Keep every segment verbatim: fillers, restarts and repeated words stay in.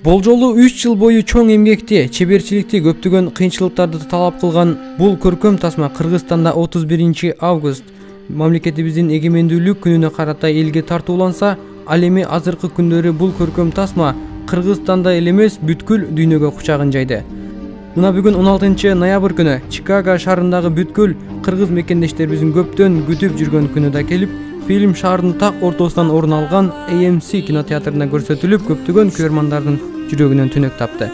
Болжолу үч жыл бою чоң эмгекти, чеберчиликти, көптөгөн кыйынчылыктарды талап кылган бул көркөм тасма Кыргызстанда отуз биринчи август мамлекетибиздин эгемендүүлүк күнүнө карата элге тартууланса, ал эми азыркы күндөрү бул көркөм тасма Кыргызстанда эле эмес, бүткүл дүйнөгө кучагын жайды. Мына бүгүн он алтынчы ноябрь күнү Чикаго шаарындагы бүткүл кыргыз мекендештерибиздин көптөн күтүп жүргөн күнү да келип, фильм шаардын так ортосунан орун алган A M C кинотеатрында көрсөтүлүп, көптөгөн көрөрмандардын жүрөгүнөн түнөк тапты.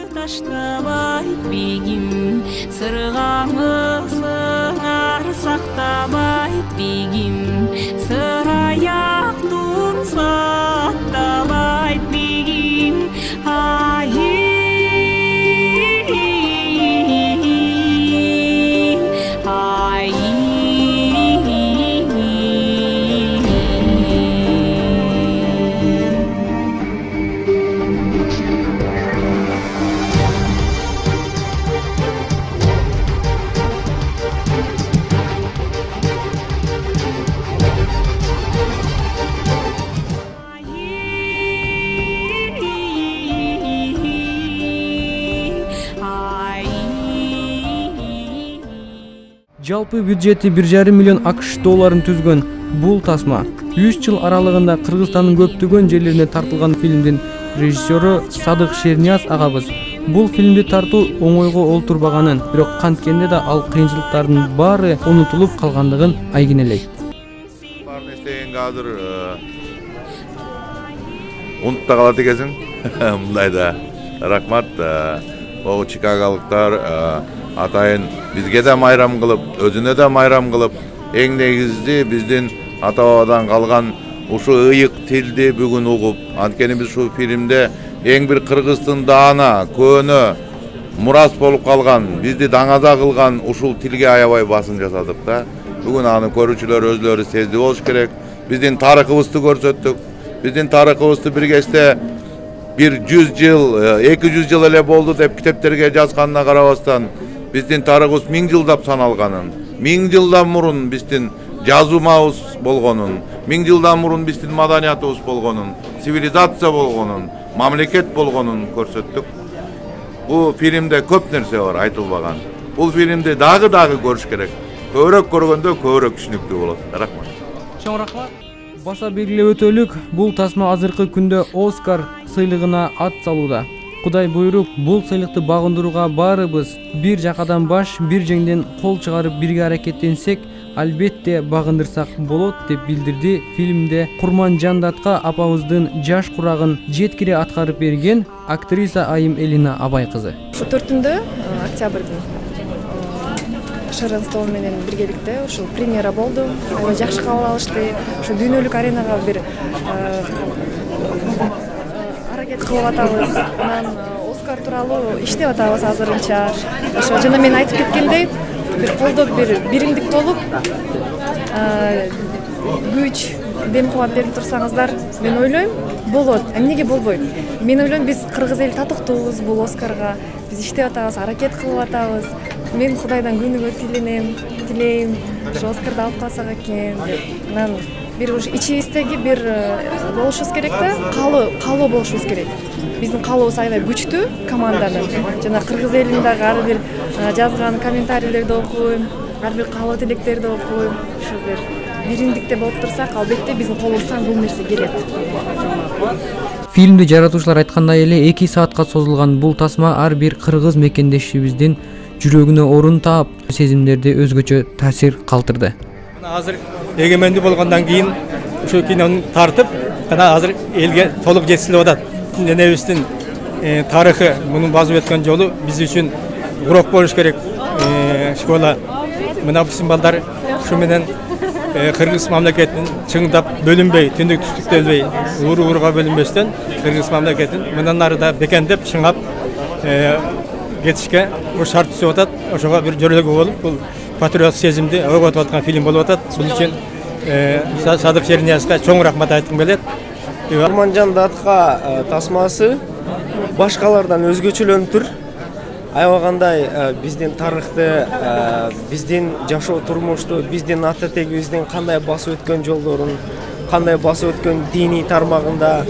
Жалпы бюджети бир жарым миллион акш долларын түзгөн бул тасма үч жыл аралыгында Кыргызстандын көптөгөн жерлерине тартылган фильмдин режиссеру Садык Шернияз агабыз бул фильмди тартуу оңойго олтурбаганын, бирок канткенде да ал кыйынчылыктардын баары унутулуп калгандыгын айгинелейт. Бар нерсени азыр унутуп да калат экенсиң. Мындайда рахмат. Могу чикаголуктар атайын бизге да майрам кылып, өзүнө да майрам кылып, эң негизи биздин ата бабадан калган ушу ыйык тилди бүгүн угуп, анткени биз ушул фильмде эң бир кыргыздын даана, көөнө мурас болуп калган, бизди даңаза кылган ушул тилге аябай басым жасадык да. Бүгүн аны көрүүчүлөр өзлөрү сезди болуш керек. Биздин тарыхыбызды көрсөттүк. Биздин тарыхыбызды бир кечте бир жүз жыл, эки жүз жыл эле болду деп китептерге жазганына карабастан, биздин тарыхыбыз миң жылдап саналганын, миң жылдан мурун биздин жазуумабыз болгонун, миң жылдан мурун биздин маданиятыбыз болгонун, цивилизация болгонун, мамлекет болгонун көрсөттүк. Бул фильмде көп нерсе бар айтылбаган. Бул фильмди дагы дагы көрүш керек. Көбүрөөк көргөндө көбүрөөк түшүнүктүү болот. Рахмат. Чоң рахмат. Баса белгилеп өтөлүк, бул тасма азыркы күндө Оскар сыйлыгына ат салууда. Кудай буйруп, бул сыйлыкты багындырууга баарыбыз бир жакадан баш, бир жеңден кол чыгарып бирге аракеттенсек, албетте багындырсак болот деп билдирди фильмде Курманжан Датка апабыздын жаш курагын жеткире аткарып берген актриса Айым Элина Абай кызы. Ушу төртүндө октябрдын Шаран стол менен биргеликте ушул премьера болду. Аябай жакшы кабыл алышты. Ушу дүйнөлүк аренага бир аракет кылып атабыз. Анан Оскар тууралуу иштеп атабыз азырынча. Ошо жана мен айтып кеткендей, бир колдоп, бир биримдик болуп, күч, дем кубат берип турсаңыздар, мен ойлойм, болот. Эмнеге болбойт? Мен ойлойм, биз кыргыз эли татыктуубуз бул Оскарга. Биз иштеп атабыз, аракет кылып атабыз. Мен Кудайдан күнүгө тиленем, тилейм, ошо Оскарды алып калсак экен деп. Анан бир уж ичибиздеги бир болушубуз керек да, каалоо, каалоо болушубуз керек. Биздин каалообуз аябай күчтүү команданын. Жана кыргыз элинин дагы ар бир жазган комментарийлерди окуйм, ар бир каалоо тилектерди окуйм. Ушу бир биримдикте болуп турсак, албетте биздин колубуздан бул нерсе келет. Фильмди жаратуучулар айткандай эле эки саатка созулган бул тасма ар бир кыргыз мекендешибиздин жүрөгүнө орун таап, сезимдерди өзгөчө таасир калтырды. Азыр эгемендүү болгондон кийин ушу кинону тартып, жана азыр элге толук жеткизилип атат. Денебиздин тарыхы, мунун базып өткөн жолу биз үчүн урок болуш керек. Школа мына биздин балдар ушу менен кыргыз мамлекетин чыңдап бөлүнбөй, түндүк түштүктөлбөй, уру-уруга бөлүнбөстөн кыргыз мамлекетин мындан ары да бекемдеп, чыңап кетишке бул шарт түзүп атат. Ошого бир жөрөлгө болуп, бул патриот сезимди ойготуп аткан фильм болуп атат. Бул үчүн Садык Шерниязга чоң рахмат айткым келет. Курманжан Датка тасмасы башкалардан өзгөчөлөнүп тур. Аябагандай биздин тарыхты, биздин жашоо турмушту, биздин ата тегибиздин кандай басып өткөн жолдорун, кандай басып өткөн диний тармагында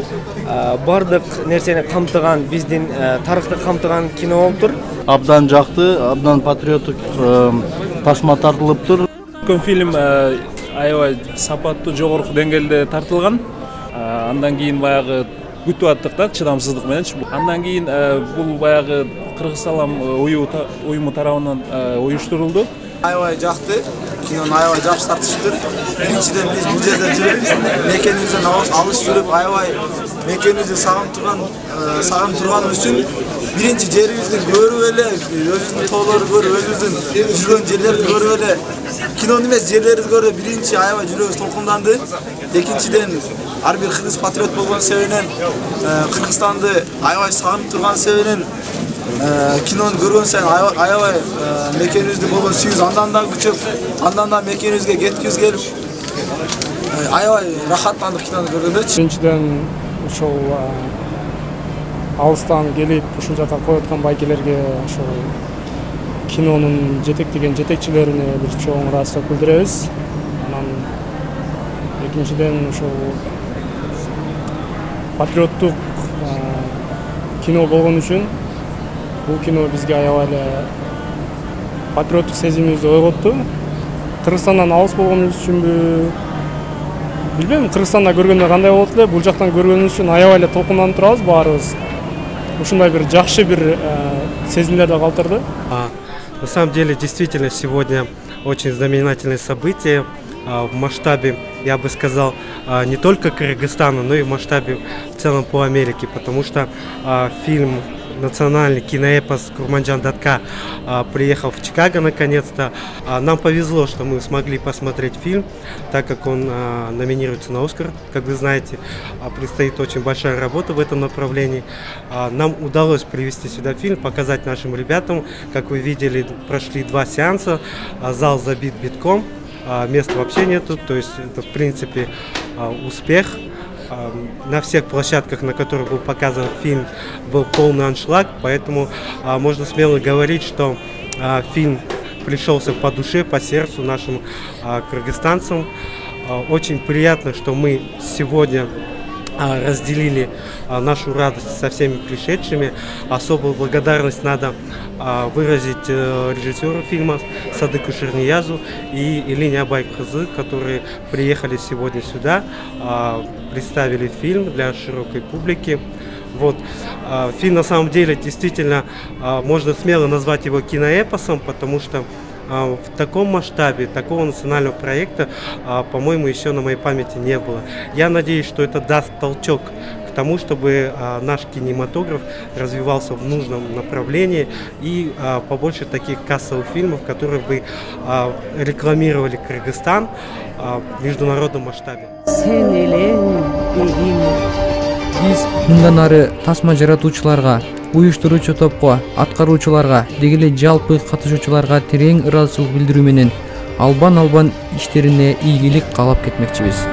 бардык нерсени камтыган, биздин тарыхты камтыган кино болуптур. Абдан жакты, абдан патриоттук тасма тартылыптыр. Көркөм фильм аябай сапаттуу, жогорку деңгээлде тартылган. Андан кийин баягы күтүп аттык да, чыдамсыздык мененчи. Андан кийин бул баягы Кыргыз Салам уюму тарабынан уюштурулду. Аябай жакты, кинону аябай жакшы тартышыптыр. Биринчиден биз бул жерде жүрүп, мекенибизден алыс жүрүп, аябай мекенибизди сагынып турган, сагынып турганыбыз үчүн биринчи жерибизди көрүп эле, өзүбүздүн тоолорду көрүп, өзүбүздүн жүргөн жерлерди көрүп эле, кинону эмес жерлерди көрүп биринчи аябай жүрөгүбүз толкунданды. Экинчиден ар бир кыргыз патриот болгон себебинен, Кыргызстанды аябай сагынып турган себебинен кинону көргөн сайын аябай мекенибизде болгон сүйүүбүз андан да күчөп, андан да мекенибизге кеткибиз келип, аябай рахаттандык кинону көргөндө. Биринчиден ошол алыстан келип ушул жака коюп байкелерге ошол кинонун жетектеген жетекчилерине бир чоң ыраазычылык билдиребиз. Анан экинчиден ошол патриоттук кино болгон үчүн бул кино бизге аябай эле патриоттук сезимибизди ойготту. Кыргызстандан алыс болгонубуз үчүнбү билбейм, Кыргызстанда көргөндө кандай болот эле, бул жактан көргөнүбүз үчүн аябай эле толкунданып турабыз баарыбыз. Ушундай бир жакшы бир сезимдерди калтырды. На самом деле, действительно, сегодня очень знаменательное событие в масштабе, я бы сказал, не только Кыргызстана, но и в масштабе в целом по Америке, потому что фильм национальный киноэпос Курманджан Датка приехал в Чикаго наконец-то. Нам повезло, что мы смогли посмотреть фильм, так как он номинируется на Оскар. Как вы знаете, предстоит очень большая работа в этом направлении. Нам удалось привезти сюда фильм, показать нашим ребятам. Как вы видели, прошли два сеанса, зал забит битком, места вообще нету, то есть это в принципе успех. На всех площадках, на которых был показан фильм, был полный аншлаг, поэтому а, можно смело говорить, что а, фильм пришелся по душе, по сердцу нашим а, кыргызстанцам. А, очень приятно, что мы сегодня а, разделили а, нашу радость со всеми пришедшими. Особую благодарность надо а, выразить а, режиссеру фильма Садыку Шерниязу и Илине Абайкызы, которые приехали сегодня сюда, а, представили фильм для широкой публики. Вот. А, фильм на самом деле действительно а, можно смело назвать его киноэпосом, потому что а, в таком масштабе, такого национального проекта, а, по-моему, еще на моей памяти не было. Я надеюсь, что это даст толчок к тому, чтобы а, наш кинематограф развивался в нужном направлении и а, побольше таких кассовых фильмов, которые бы а, рекламировали Кыргызстан а, в международном масштабе. Биз мындан ары тасма жаратуучуларга, уюштуруучу топко, аткаруучуларга, деги эле жалпы катышуучуларга терең ыраазычылык билдирүү менен албан албан иштерине ийгилик каалап кетмекчибиз.